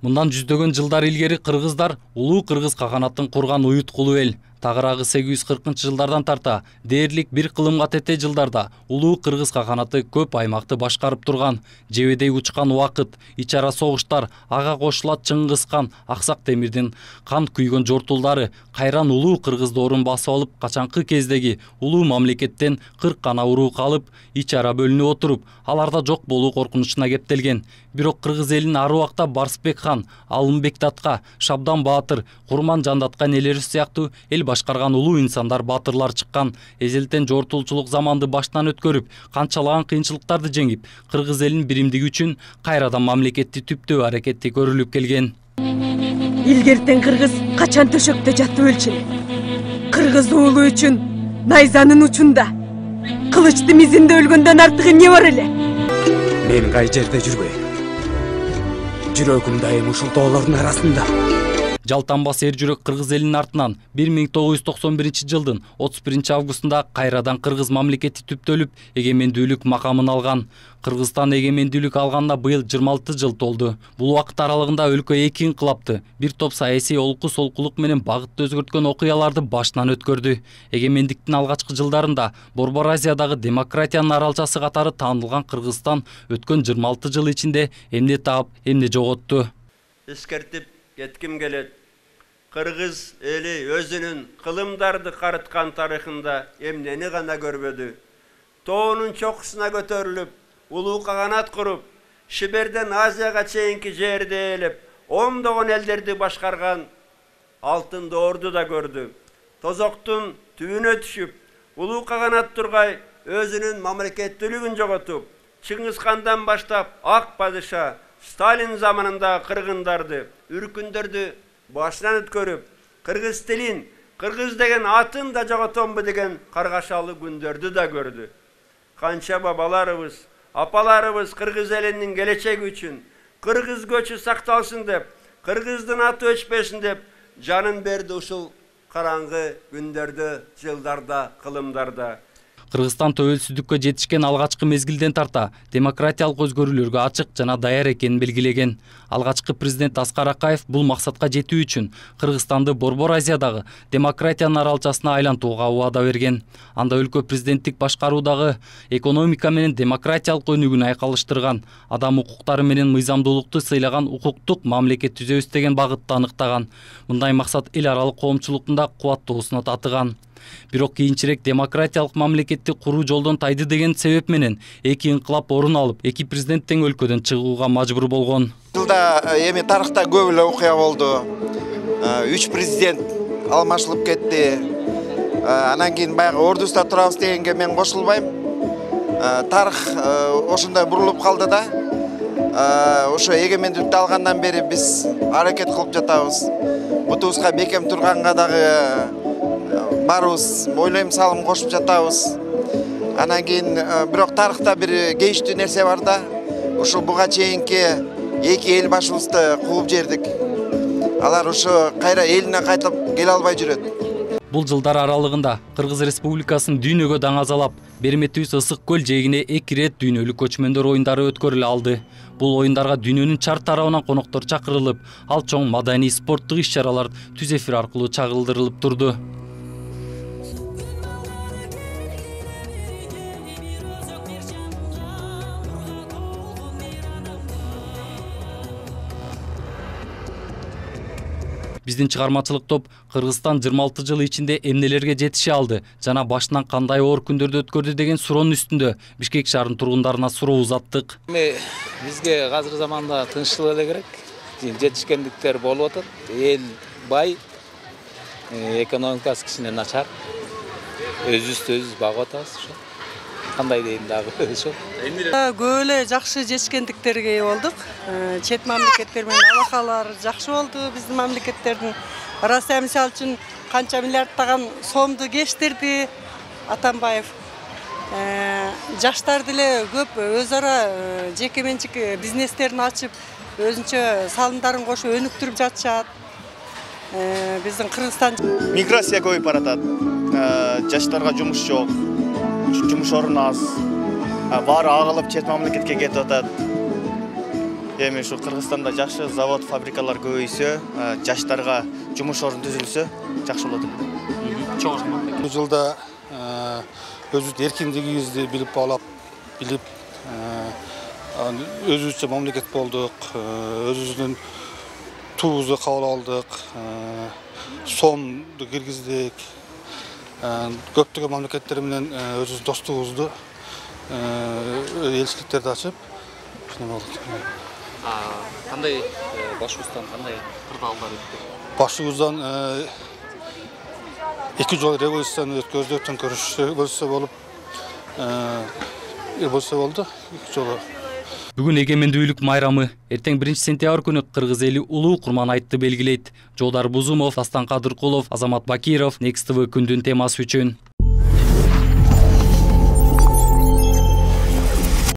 Мындан жүздөгөн жылдар илгери кыргыздар улуу кыргыз каганатын курган уюткулуу эл. Тагыраагы 840-жылдардан тарта дээрлик бир кылымга тете жылдарда улуу кыргыз каганаты көп аймакты башкарып турган. Жебедей учкан убакыт, ич ара согуштар, ага кошулат Чыңгыз хан, Аксак Темирдин кан күйгөн жортулдары кайран улуу кыргызды орун басып алып, качанкы кездеги улуу мамлекеттен 40 гана уруу калып, ич ара бөлүнүп отуруп, аларда жок болуу коркунучуна кептелген. Бирок кыргыз элин ар убакта Барсбек хан, Алымбек Татка, Шабдан Баатыр, Курман Жандаткан элери сыяктуу эл башкарган улуу инсандар, баатырлар чыккан. Эзелтен жортулчулук заманды баштан өткөрүп, канчалаган кыйынчылыктарды жеңип, кыргыз элинин биримдиги үчүн кайрадан мамлекетти түптөө аракети көрүлүп келген. Илгертен кыргыз качан төшөктө жатып өлчү. Кыргыз уулу үчүн найзанын учунда, кылычты мизинде өлгөндөн артыгы эмне бар эле? Мен кай жерде жүрбөйм. Жүрөгүм дайым ушул тоолордун арасында. Жалтанбас эр жүрөк кыргыз элинин артынан 1991-жылдын 31-августунда кайрадан кыргыз мамлекети түптөлүп, эгемендүүлүк макамын алган. Кыргызстан эгемендүүлүк алганына быйыл 26 жыл толду. Бул убакыт аралыгында өлкө 2 инкылапты, бир топ саясий олку-солкулук менен багытты өзгөрткөн окуяларды башынан өткөрдү. Эгемендиктин алгачкы жылдарында Борбор Азиядагы демократиянын аралчасы катары таанылган Кыргызстан өткөн 26 жыл ичинде эмне таап, эмне жоготту. Эскертип кетким келет. Кыргыз эли өзүнүн кылымдарды карыткан тарыхында эмнени гана көрбөдү. Тоонун чокусуна көтөрүлүп, улуу каганат куруп, Шиберден Азияга чейинки жерди ээлеп, ондогон элдерди башкарган алтын доорду да көрдү. Тозоктун түбүнө түшүп, улуу каганат тургай өзүнүн мамлекеттүүлүгүн жоготуп, Чыңгыз хандан баштап Ак падыша Сталин заманында кыргындарды, үркүндөрдү башынан өткөрүп, кыргыз тилин, кыргыз деген атын да жоготомбу деген каргашалуу күндөрдү да көрдү. Канча бабаларыбыз, апаларыбыз кыргыз элинин келечеги үчүн, кыргыз көчү сакталсын деп, кыргыздын аты өчпөсүн деп жанын берди ушул караңгы күндөрдө, жылдарда, кылымдарда. Кыргызстан төбөлсүздүккө жетишкен алгачкы мезгилден тарта демократиялык өзгөрүүлөргө ачык жана даяр экенин белгилеген. Алгачкы президент Аскар Акаев бул максатка жетүү үчүн Кыргызстанды Борбор Азиядагы демократиянын аралчасына айлантууга убада берген. Анда өлкө президенттик башкаруудагы экономика менен демократиялык өнүгүүнү айкалыштырган, адам укуктары менен мыйзамдуулукту сыйлаган укуктук мамлекет түзөбүз деген багытты аныктаган. Мындай максат эл аралык коомчулуктун да кубаттоосуна татыган. Бирок кийинчерээк демократиялык мамлекетти куруу жолдон тайды деген себеп менен эки инкылап орун алып, эки президент тең өлкөдөн чыгууга мажбур болгон. Жылда эми тарыхта көп эле окуя болду. 3 президент алмашылып кетти. Анан кийин баягы ордуста турабыз дегенге мен кошулбайм. Тарых ошондой бурулуп калды да. Ошо эгемендүүлүктү алгандан бери биз аракет кылып жатабыз. Бутубузга бекем турганга дагы барыбыз ойлойм салым кошуп жатабыз. Анан кийин бирок тарыхта бир кейиштүү нерсе бар да. Ушул буга чейинки эки эл башыбызды кууп жердик. Алар ошо кайра элине кайтып келе албай жүрөт. Бул жылдар аралыгында Кыргыз Республикасын дүйнөгө даңазалап, берметибиз Ысык көл жээгине 2 рет дүйнөлүк көчмөндөр оюндары өткөрүлө алды. Бул оюндарга дүйнөнүн чар тарабынан коноктор чакырылып, ал чоң маданий спорттук иш-чаралар түз эфир аркылуу чагылдырылып турду. Биздин чыгармачылык топ Кыргызстан 26 жыл ичинде эмнелерге жетише алды жана башынан кандай оор күндөрдү өткөрдү деген суроонун үстүндө Бишкек шаарынын тургундарына суроо узаттык. Бизге азыр заманда тынччылык эле керек. Жетишкендиктер болуп атат. Эл бай, экономикасы кичине начар. Өзүбүздү өзүбүз багып атабыз ошо. Кандай дейм дагы ошо. Көп эле жакшы жетишкендиктерге болдук. Чет мамлекеттер менен алакалар жакшы болду. Биздин мамлекеттердин Россия мисалы үчүн канча миллиардтаган сомду кештирди Атамбаев. Жаштар деле көп өз ара жеке менчик бизнестерин ачып, өзүнчө салымдарын кошуп өнүктүрүп жатышат. Биздин Кыргызстан миграция көбөйүп баратат. Жаштарга жумуш жок. Жумуш орун аз. Баары агылып чет мамлекетке кетип атат. Эми ушу Кыргызстанда жакшы завод, фабрикалар көбөйсө, жаштарга жумуш орун түзүлсө, жакшы болот. Бул жылда өзүбүздүн эркиндигибизди билип баалап, өзүбүзчө мамлекет болдук, өзүбүздүн туубузду кабыл алдык, сомду киргиздик, көптөгөн мамлекеттер менен өзүбүздүн достугубузду, элчиликтерди ачып, ушуну болдук. Кандай башыбыздан кандай кырдаалдар өттү? Башыбыздан 2 жол революцияны өткөздүк, төңкөрүш революция болуп, революция болду 2 жолу. Бүгүн эгемендүүлүк майрамы, эртең 1-сентябрь күнү кыргыз эли улуу Курманайтты белгилейт. Жолдар Бузумов, Дастан Кадыркулов, Азамат Бакиров, Next TV күндүн темасы үчүн.